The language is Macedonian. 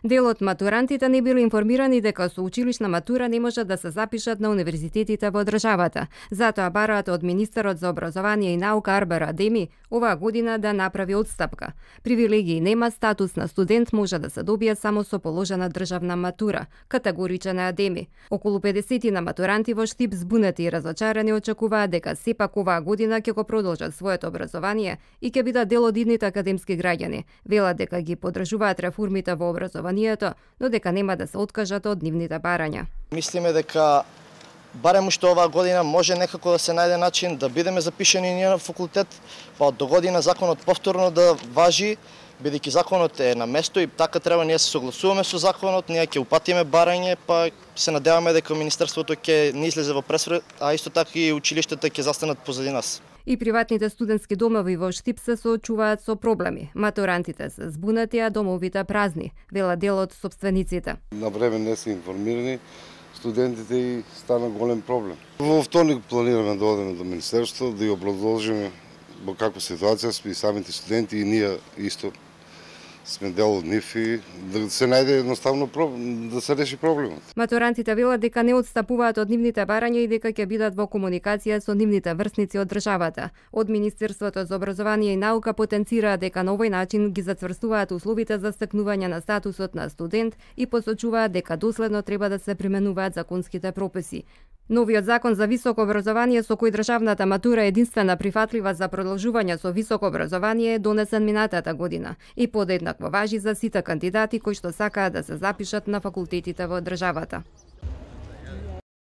Дел од матурантите не биле информирани дека со училишна матура не можат да се запишат на универзитетите во државата. Затоа бараат од министерот за образование и наука Арбер Адеми оваа година да направи отстапка. Привилегии нема, статус на студент може да се добие само со положена државна матура, категоричен е Адеми. Околу 50 на матуранти во Штип збунети и разочарани очекуваат дека сепак оваа година ќе го продолжат своето образование и ќе бидат дел од идните академски граѓани. Велат дека ги поддржуваат реформите во образованието, но дека нема да се откажат од нивните барања. Мислиме дека барем уште оваа година може некако да се најде начин да бидеме запишани ние на факултет, па од догодина законот повторно да важи, бидејќи законот е на место и така треба ние се согласуваме со законот, ние ќе упатиме барање, па се надеваме дека Министерството ќе не излезе во пресврт, а исто така и училиштата ќе застанат позади нас. И приватните студентски домови во Штип се соочуваат со проблеми. Матурантите се збунати, а домовите празни, вела дел од собствениците. На време не се информирани студентите и стана голем проблем. Во вторник планираме да одиме до Министерството, да ја продолжиме во каква ситуација сме и самите студенти и ние исто сме дел од нив и да се најде едноставно да се реши проблемот. Матурантите велат дека не отстапуваат од нивните барања и дека ќе бидат во комуникација со нивните врсници од државата. Од Министерството за образование и наука потенцираат дека на овој начин ги зацврстуваат условите за стекнување на статусот на студент и посочуваат дека доследно треба да се применуваат законските прописи. Новиот закон за високо образование со кој државната матура е единствена прифатлива за продолжување со високо образование е донесен минатата година и подеднакво важи за сите кандидати кои што сакаат да се запишат на факултетите во државата.